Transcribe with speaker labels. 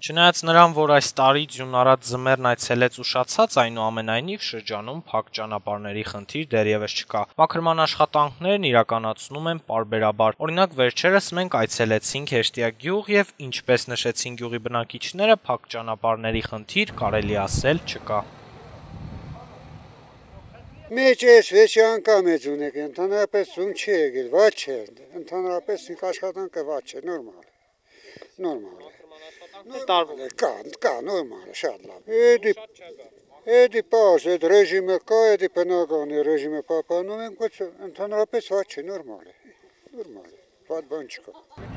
Speaker 1: Չնայած նրան, որ այս տարի ձյուն առած ձմեռն այցելեց ուշացած, այնուամենայնիվ շրջանում փակ ճանապարհների խնդիր դեռևս չկա։ Մաքրման աշխատանքներն իրականացնում են պարբերաբար։ Օրինակ, վերջերս մենք այցելեցինք Հեշտյակ գյուղ եւ, ինչպես նշեցին գյուղի բնակիչները, փակ ճանապարհների խնդիր կարելի ասել չկա։
Speaker 2: Մեջ էս վեճի անգամ է ձուն եք, ընդհանրապես ձուն չի եկել, վատ չէ, ընդհանրապես աշխատանքը վատ չէ, նորմալ է, կա, նորմալ է, շատ լավ, էդի պարզ, էդ ռեժիմը կա, էդի բնականի ռեժիմը պապանում ենք, ընդհանրապես վատ չէ, նորմալ է, վատ բան չկա։